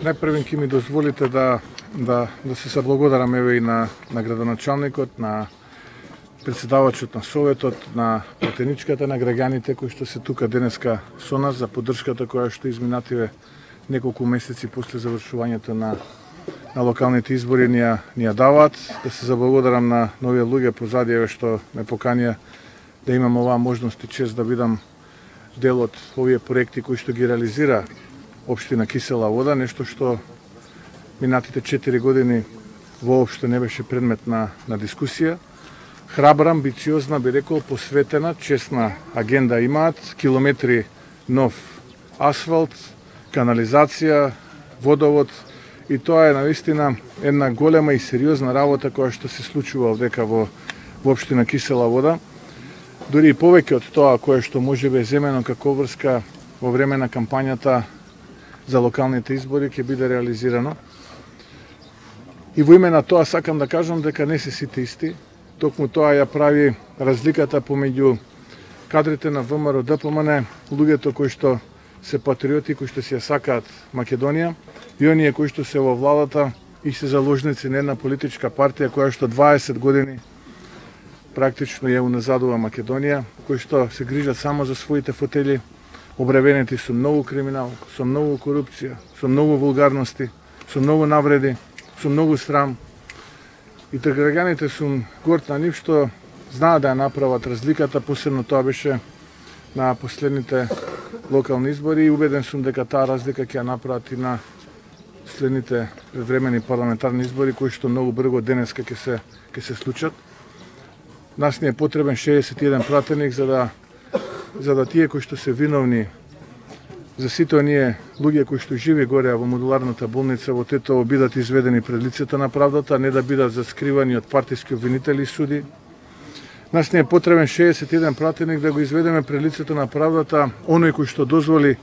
Најпрвен ќе ми дозволите да се заблагодарам еве и на градоначалникот, на председавачот на Советот, на пратеничката на граѓаните кои што се тука денеска со нас за поддршката која што изминативе неколку месеци после завршувањето на локалните избори ни ја даваат. Да се заблагодарам на новите луѓе позади еве што ме поканија да имам оваа можност и чест да бидам дел од овие проекти кои што ги реализира Општина Кисела вода, нешто што минатите 4 години воопшто не беше предмет на дискусија. Храбра, амбициозна, би рекол, посветена, честна агенда имаат, километри нов асфалт, канализација, водовод, и тоа е навистина една голема и сериозна работа која што се случува овдека во Општина Кисела вода. Дури и повеќе од тоа кое што можебе земено како врска во време на кампањата за локалните избори ќе биде реализирано. И во име на тоа сакам да кажам дека не се сите исти. Токму тоа ја прави разликата помеѓу кадрите на ВМРО ДПМН, луѓето кои што се патриоти, кои што си ја сакаат Македонија, и оние кои што се во владата и се заложници на една политичка партија која што 20 години практично ја уназадува Македонија, кои што се грижат само за своите фотели, обревенети со многу криминал, со многу корупција, со многу вулгарности, со многу навреди, со многу срам. И граѓаните сум горд на нив што знаат да ја направат разликата, посебно тоа беше на последните локални избори, и убеден сум дека таа разлика ќе ја направат и на следните времени парламентарни избори кои што многу брзо денеска ќе се случат. Нас ни е потребен 61 пратеник за да тие кои што се виновни за сите оние луѓе кои што живи горе во модуларната болница во Тетово бидат изведени пред лицето на правдата, не да бидат заскривани од партиски обвинители и суди. Нас не е потребен 61 пратеник да го изведеме пред лицето на правдата оној кој што дозволи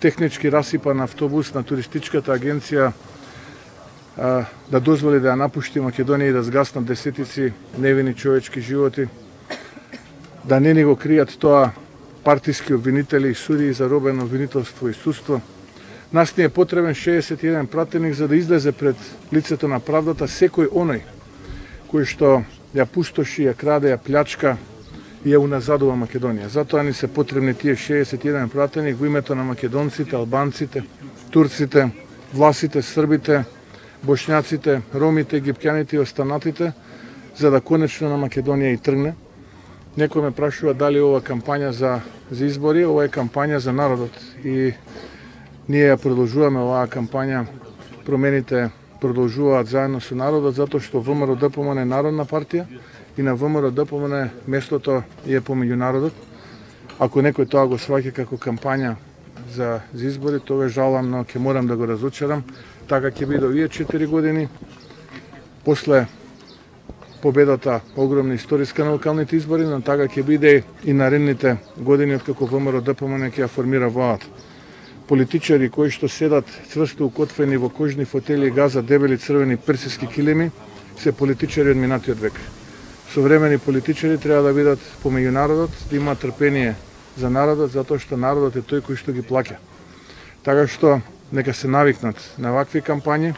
технички расипан автобус на туристичката агенција да дозволи да ја напушти Македонија и да згаснат десетици невини човечки животи, да не ни го кријат тоа партиски обвинители и суди за робено обвинителство и судство. Нас ни е потребен 61 пратеник за да излезе пред лицето на правдата секој оној кој што ја пустоши, ја краде, ја плячка и ја уназадува Македонија. Затоа ни се потребни тие 61 пратеник во името на македонците, албанците, турците, власите, србите, бошњаците, ромите, египтјаните и останатите, за да конечно на Македонија и тргне. Некој ме прашува дали ова кампања за избори, ова е кампања за народот. И ние ја продолжуваме оваа кампања, промените продолжуваат заедно со народот, затоа што ВМРО ДПМН е народна партија и на ВМРО ДПМН местото е помеѓу народот. Ако некој тоа го сваќа како кампања за избори, тоа жалам, но ќе морам да го разочарам. Така ќе биде овие 4 години. После победата огромна историска на локалните избори, но така ќе биде и наредните години откако ВМРО ДПМН ќе ја формира владата. Политичари кои што седат цврсто укотвени во кожни фотели и газат дебели црвени персиски килими се политичари од минатиот век. Современи политичари треба да бидат помеѓу народот, да имаат трпение за народот, затоа што народот е тој кој што ги плаќа. Така што нека се навикнат на вакви кампањи,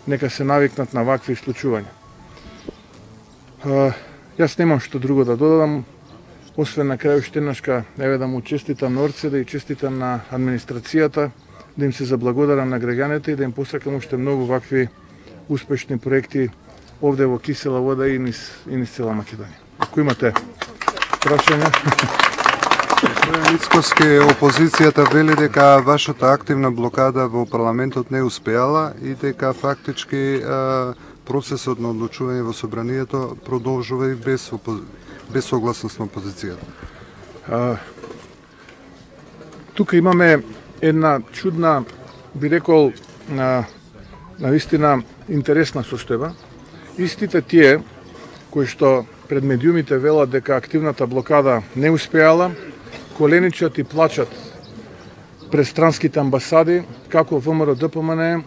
нека се навикнат на вакви случувања. Јас немам што друго да додадам, освен на крај уште еднашка да му честитам на Орце, да и честитам на администрацијата, да им се заблагодарам на граѓаните и да им посакам уште многу вакви успешни проекти овде во Кисела вода и низ цела Македонија. Ако имате прашања. Господин Мицкоски, опозицијата вели дека вашата активна блокада во парламентот не успеала и дека фактички процесот на одлучување во собранието продолжува и без согласност на опозицијата. Тука имаме една чудна, би рекол, навистина интересна состојба. Истите тие кои што пред медиумите велат дека активната блокада не успеала, коленичат и плачат пред странските амбасади како ВМРО ДПМН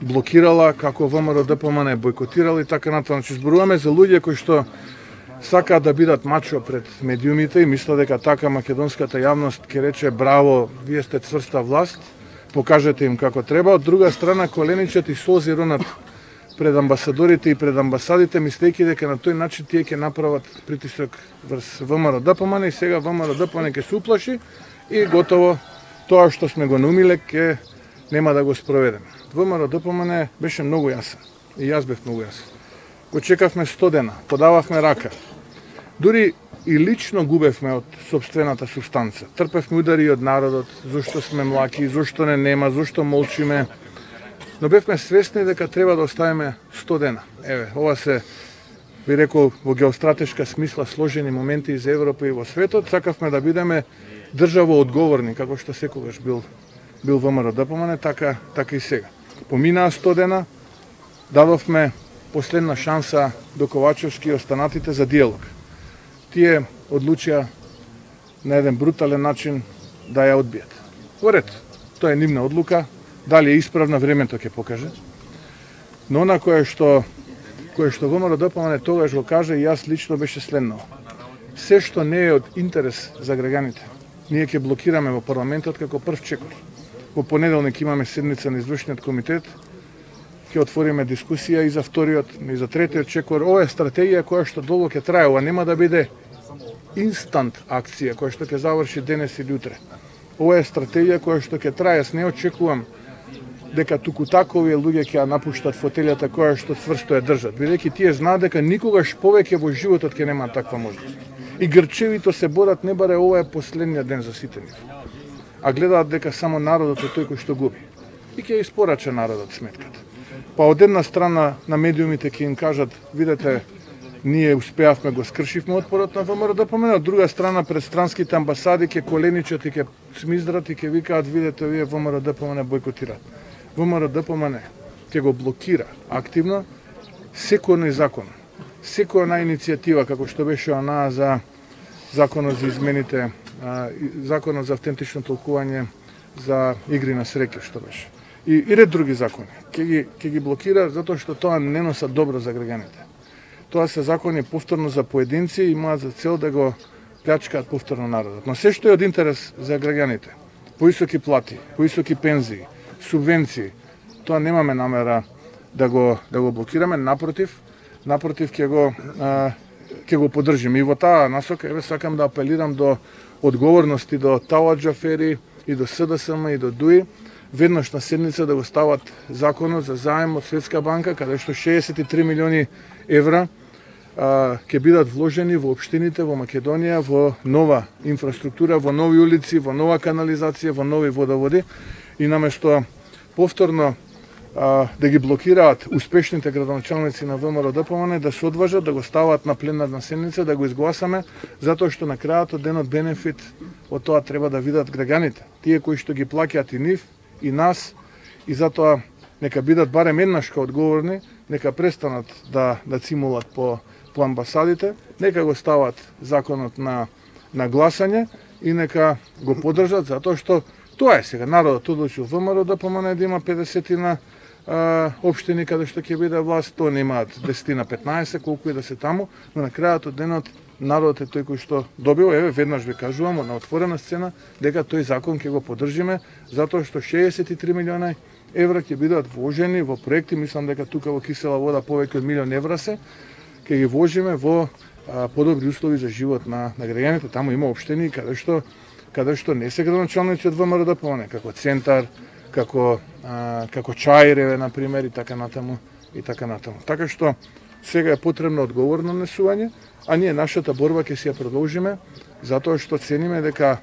блокирала, како ВМРО ДПМН бойкотирала и така натаму. Значи зборуваме за луѓе кои што сакаат да бидат мачо пред медиумите и мислат дека така македонската јавност ќе рече браво, вие сте цврста власт, покажете им како треба. Од друга страна, коленичат и солзи ронат пред амбасадорите и пред амбасадите, мислејќи дека на тој начин тие ќе направат притисок врз ВМРО-ДПМН и сега ВМРО-ДПМН ќе се уплаши и готово тоа што сме го наумиле ќе нема да го спроведеме. ВМРО-ДПМН беше многу јасен и јас бев многу јасен. Го чекавме 100 дена, подававме рака. Дури и лично губевме од сопствената субстанца. Трпевме удари од народот, зошто сме млаки, зошто не нема, зошто молчиме. Но бевме свесни дека треба да оставиме 100 дена. Еве, ова се, би рекол, во геостратешка смисла сложени моменти и за Европа и во светот. Сакавме да бидеме државо одговорни, како што секогаш бил ВМРО-ДПМН, така и сега. Поминаа 100 дена, дадовме последна шанса до Ковачевски и останатите за диалог. Тие одлучија на еден брутален начин да ја одбијат. Во ред, тоа е нивна одлука, дали е исправна, времето ќе покаже. Но она кое што ВМРО-ДПМН тогаш го кажа и јас лично беше следно. Се што не е од интерес за граѓаните, ние ќе блокираме во парламентот како прв чекор. Во понеделник имаме седница на извршниот комитет, ќе отвориме дискусија и за вториот, и за третиот чекор. Ова е стратегија која што долго ќе трае, ова нема да биде инстант акција која што ќе заврши денес или утре. Ова е стратегија која што ќе трае. Јас не очекувам дека туку такови луѓе ќе напуштат фотелјата која што цврсто ја држат, бидејќи тие знаат дека никогаш повеќе во животот ќе нема таква можност. И грчевито се борат, не баре ова е последниот ден за сите нив. А гледаат дека само народот е тој кој што губи. И ќе испорача народот сметката. Па од една страна на медиумите ќе им кажат, видете, ние успеавме, го скршивме отпорот на ВМРО-ДПМН, од друга страна пред странските амбасади ќе коленичат и ќе смиздрат и ќе викаат, видете, вие ВМРО-ДПМН бойкотираат. ВМРО-ДПМН ќе го блокира активно секој закон, секоја иницијатива, како што беше она за законот за измените, законот за автентично толкување за игри на среќа, што беше. И ред други закони. Ќе ги блокира затоа што тоа не носа добро за граѓаните. Тоа се закони повторно за поединци и имаат за цел да го плячкаат повторно народот. Но се што е од интерес за граѓаните, поисоки плати, поисоки пензии, субвенции, тоа немаме намера да го блокираме, напротив ќе го поддржиме. И во таа насока еве сакам да апелирам до одговорности до Талаџ афери и до СДСМ и до ДУИ, веднаш на седница да го стават законот за заем од Светска банка, каде што 63 милиони евра ќе бидат вложени во општините во Македонија, во нова инфраструктура, во нови улици, во нова канализација, во нови водоводи. И наместо повторно да ги блокираат успешните градоначалници на ВМРО-ДПМН, да се одважат, да го стават на пленарна седница, да го изгласаме, затоа што на крајот од денот бенефит од тоа треба да видат граѓаните, тие кои што ги плаќаат и нив, и нас, и затоа нека бидат барем еднашка одговорни, нека престанат да цимулат по амбасадите, нека го стават законот на гласање и нека го поддржат, затоа што тоа е сега. Народот одлучил ВМРО-ДПМН да има 50 општини каде што ќе биде власт, тоа не имаат 10-15, колку и да се таму, но на крајот од денот народот е тој кој што добил. Еве, веднаш ви кажувам на отворена сцена дека тој закон ќе го поддржиме, затоа што 63 милиона евра ќе бидат вложени во проекти, мислам дека тука во Кисела вода повеќе од милион евра се, ќе ги вложиме во подобри услови за живот на граѓаните. Таму има општини каде што не се градоначалници од ВМРО-ДПМН, како Центар, како Чаиреве, например, и така натаму. Така што сега е потребно одговорно однесување, а ние нашата борба ќе си ја продолжиме, затоа што цениме дека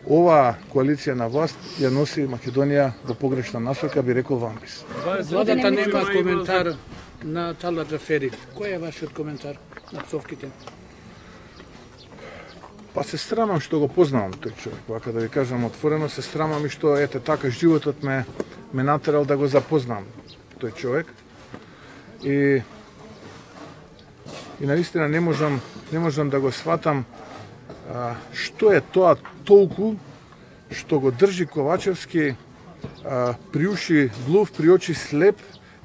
оваа коалиција на власт ја носи Македонија во погрешна насока, би рекол вампис. Владата нема коментар на Талаџ афери. Кој е вашиот коментар на псовките? Па се срамам што го познавам тој човек, вака да ви кажам отворено, се срамам и што ете така животот ме натерал да го запознам тој човек. И наистина не можам да го сватам што е тоа толку што го држи Ковачевски при уши глув, при очи слеп,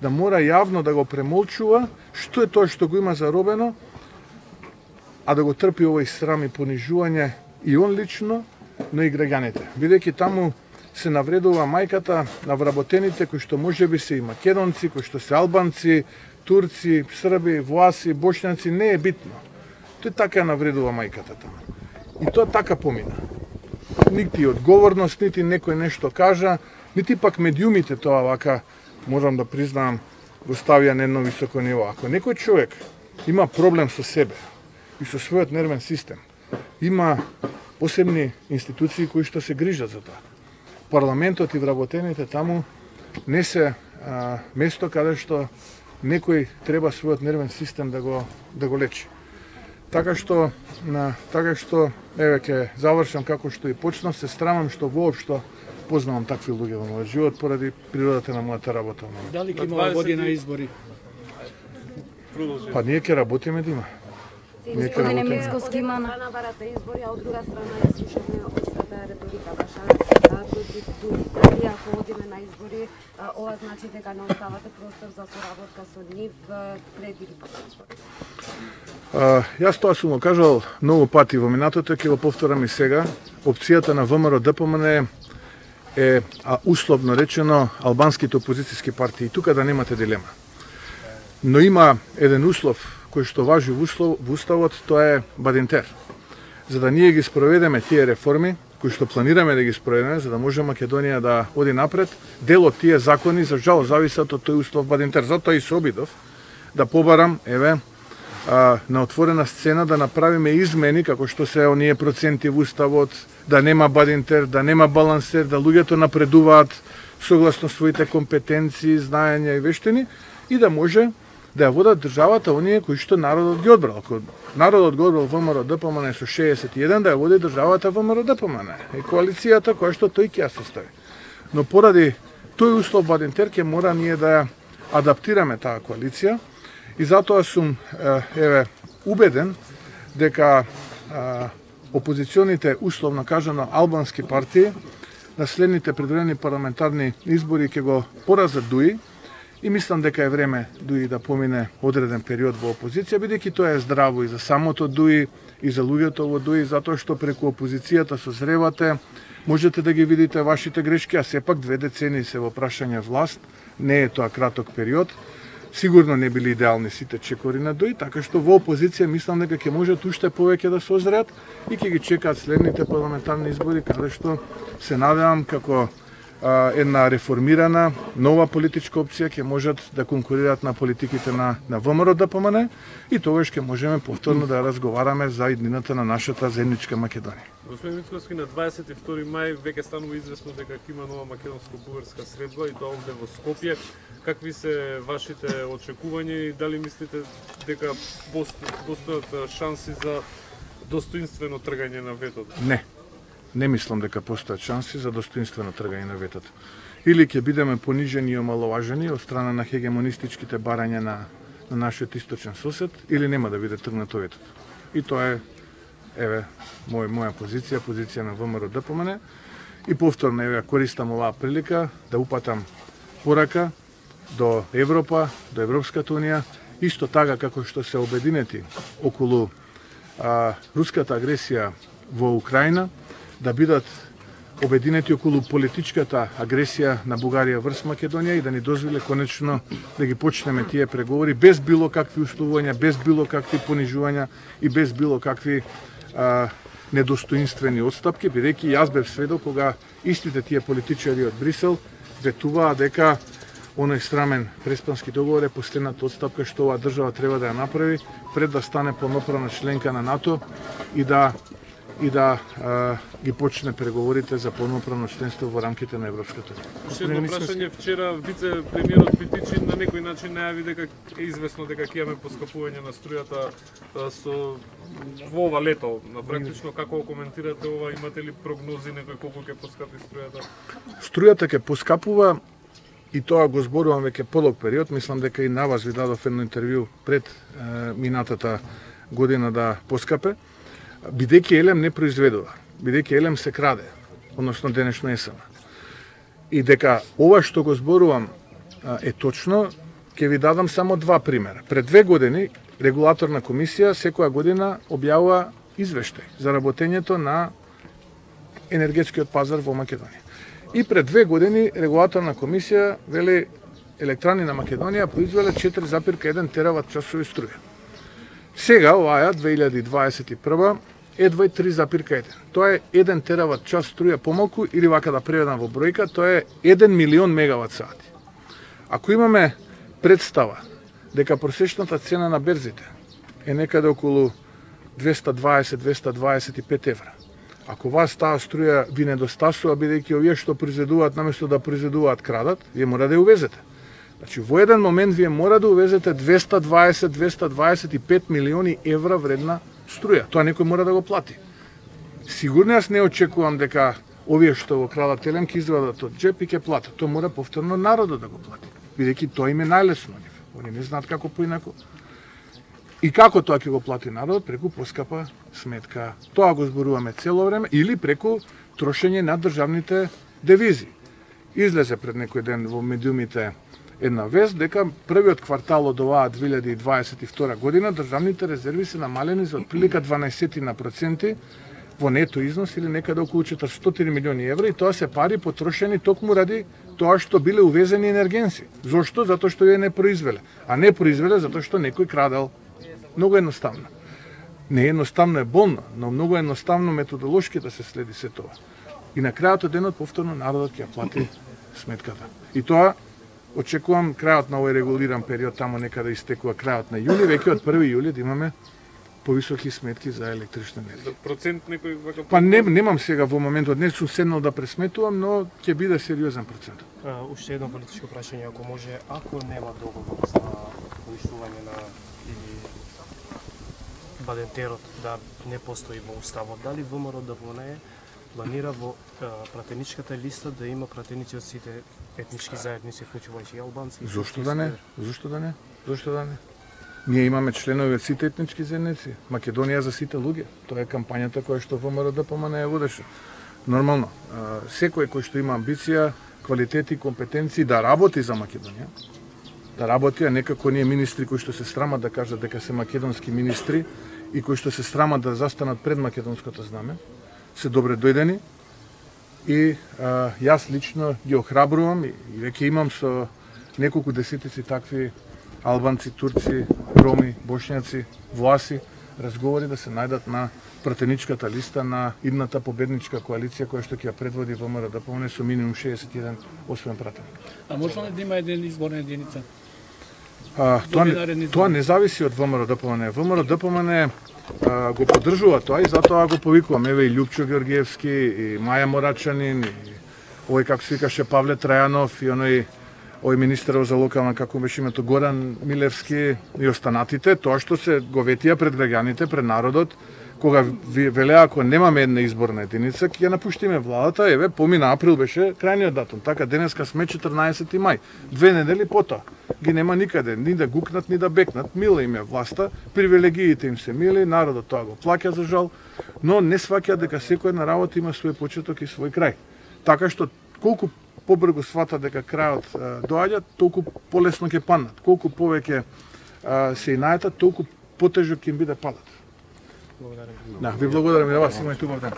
да мора јавно да го премолчува, што е тоа што го има заробено, а да го трпи овој срам и понижување и он лично, но и граѓаните. Бидејќи таму се навредува мајката на вработените кои што можеби се и македонци, кои што се албанци, турци, срби, власи, бошњаци, не е битно. Тој така навредува мајката тamo. И тоа така помина. Нити одговорност, нити некој нешто кажа, нити пак медиумите тоа вака, можам да признам, го ставија на едно високо ниво. Ако некој човек има проблем со себе и со својот нервен систем, има посебни институции кои што се грижат за тоа. Парламентот и вработените таму не се место каде што некој треба својот нервен систем да го лечи. Така што еве ќе завршам како што и почнав, се срамам што воопшто познавам такви луѓе во мојот живот поради природата на мојата работа. Дали ќе има година избори? Па ние ќе работиме да има. Господине Мицкоски, има на барата избори, а од друга страна ја слушаме општата реторика ваша против дали ако одиме на избори, ова значи дека не оставате простор за соработка со нив пред или после избори. Јас тоа сум го кажал многу пати во минатото, ќе го повторам и сега. Опцијата на ВМРО-ДПМН е условно речено албанските опозицијски партии. Тука да немате дилема. Но има еден услов кој што важи во уставот, тоа е Бадинтер. За да ние ги спроведеме тие реформи, кои што планираме да ги спроведеме, за да може Македонија да оди напред, дел од тие закони за жал зависат од тој услов Бадинтер. Затоа и се обидов да побарам, на отворена сцена да направиме измени како што се оние проценти во уставот, да нема Бадинтер, да нема балансер, да луѓето напредуваат согласно своите компетенции, знаења и вештини и да може да ја водат државата оние кои што народот ги одбрал. Ако народот го одбрал ВМРО-ДПМН со 61, да ја води државата ВМРО-ДПМН и коалицијата која што тој ќе ја состави. Но поради тој услов Бадинтер ќе мора ние да ја адаптираме таа коалиција и затоа сум убеден дека опозиционите, условно кажано албански партии, на следните предварени парламентарни избори ќе го поразат ДУИ и мислам дека е време ДУИ да помине одреден период во опозиција, бидејќи тоа е здраво и за самото ДУИ и за луѓето во ДУИ, затоа што преку опозицијата созревате, можете да ги видите вашите грешки, а сепак 2 децении се во прашање власт, не е тоа краток период. Сигурно не били идеални сите чекори на ДУИ, така што во опозиција мислам дека ќе можат уште повеќе да созреат и ќе ги чекаат следните парламентарни избори, каде што се надевам како една реформирана, нова политичка опција ќе можат да конкурираат на политиките на ВМРО-ДПМН и тогаш ќе можеме повторно да разговараме за иднината на нашата земјичка Македонија. Господин Мицкоски, на 22 мај веќе станува известно дека има нова македонско-бугарска средба и тоа овде во Скопје. Какви се вашите очекувања и дали мислите дека постојат шанси за достоинствено тргање на ветото? Не мислам дека постојат шанси за достоинствено тргање на ветото. Или ќе бидеме понижени и омаловажени од страна на хегемонистичките барања на нашиот источен сосед, или нема да биде тргнато ветото. И тоа е моја позиција на ВМРО-ДПМН. И повторно користам оваа прилика да упатам порака до Европа, до Европската Унија, исто така како што се обединети околу руската агресија во Украина, да бидат обединети околу политичката агресија на Бугарија врз Македонија и да ни дозволе конечно да ги почнеме тие преговори без било какви условувања, без било какви понижувања и без било какви недостоинствени отстапки, бидејќи јас бев сведок кога истите тие политичари од Брисел ветуваа дека оној срамен преспански договор е последната отстапка што оваа држава треба да ја направи пред да стане полноправна членка на НАТО и да ги почне преговорите за полноправно членство во рамките на Европската Унија. Уште едно прашање, вчера вице-премиерот Питичи на некој начин најави дека е известно дека ќе имаме поскапување на струјата во ова лето. Практично како коментирате ова, имате ли прогнози некој колку ќе поскапи струјата? Струјата ќе поскапува и тоа го зборувам веќе подолг период, мислам дека и на вас ви дадов едно интервју пред минатата година да поскапе. Бидејќи елем не произведува, бидејќи елем се краде, односно денешно есама. И дека ова што го зборувам е точно, ќе ви дадам само 2 примера. Пред 2 години регулаторна комисија секоја година објавува извештај за работењето на енергетскиот пазар во Македонија. И пред 2 години регулаторна комисија вели електрани на Македонија произвеле 4,1 терават часови струја. Сега, оваа 2021 едва 3,1. Тоа е 1 терават час струја помалку, или вака да преведам во бројка, тоа е 1 милион мегават сати. Ако имаме представа дека просечната цена на берзите е некаде околу 220-225 евра, ако вас таа струја ви недостасува, бидејќи овие што произведуваат наместо да произведуваат крадат, вие мора да ја увезете. Значи, во еден момент вие мора да увезете 220-225 милиони евра вредна струја. Тоа некој мора да го плати. Сигурно јас не очекувам дека овие што го крадат телем ќе извадат од джеп и ќе платат. Тоа мора повторно народот да го плати. Бидејќи тоа им е најлесно. Они не знаат како поинаку. И како тоа ќе го плати народот? Преку поскапа сметка. Тоа го зборуваме цело време, или преку трошење на државните девизи. Излезе пред некој ден во медиумите една вест дека првиот квартал од оваа 2022 година државните резерви се намалени за отприлика 12% во нето износ, или некаде околу 400 милиони евра, и тоа се пари потрошени токму ради тоа што биле увезени енергенси. Зошто? Затоа што ја не произвеле. А не произвеле затоа што некој крадел. Многу едноставно. Не едноставно е болно, но многу едноставно методолошки да се следи се тоа. И на крајот од денот повторно народот ќе плати сметката. И тоа очекувам крајот на овој регулиран период, тамо некаде истекува крајот на јули, веќе од 1 јули да имаме повисоки сметки за електрична енергија. Процент некој вака? Па немам сега во моментот, не сум седнал да пресметувам, но ќе биде сериозен процент. Уште едно политичко прашање, ако може, ако нема договор за уништување на или Бадентерот да не постои во уставот, дали ВМРО ДПМНЕ планира во пратеничката листа да има пратеници од сите етнички заедници, вклучувајќи и албанци? Зошто да не? Зошто да не? Зошто да не? Ние имаме членови од сите етнички заедници. Македонија за сите луѓе. Тоа е кампањата која што ВМРО ДПМНЕ водеше. Нормално, секој кој што има амбиција, квалитети, компетенции да работи за Македонија, да работи, а некако ние министри кои што се срамат да кажат дека се македонски министри и кои што се срамат да застанат пред македонското знаме, се добре дојдени. И јас лично ги охрабрувам и веќе имам со неколку десетици такви албанци, турци, роми, бошњаци, власи, разговори да се најдат на пратеничката листа на идната победничка коалиција која што ќе ја предводи ВМРО ДПМНЕ со минимум 61 освен пратеник. А може ли да има еден изборна единица? Тоа не зависи од ВМРО ДПМНЕ. ВМРО ДПМНЕ го поддржува тоа и затоа го повикувам. Еве и Љупчо Георгиевски, и Маја Морачанин, и овој како се викаше Павле Трајанов, и овој министерот за локална, како беше името, Горан Милевски, и останатите, тоа што се го ветија пред граѓаните, пред народот, кога велеа ако немаме една изборна единица, ќе ја напуштиме владата, еве помина април беше крајниот датум, така денеска сме 14 мај, 2 недели потоа. Ги нема никаде, ни да гукнат, ни да бекнат, мила им е власта, привилегиите им се мили, народот тоа го плаќа за жал, но не сваќа дека секоја една работа има свој почеток и свој крај. Така што колку побрзо свата дека крајот доаѓа, толку полесно ќе паднат. Колку повеќе се инајтат, толку потежок ќе им биде падат. Благодарам. Да, ви благодарам и на вас, имајте убав ден.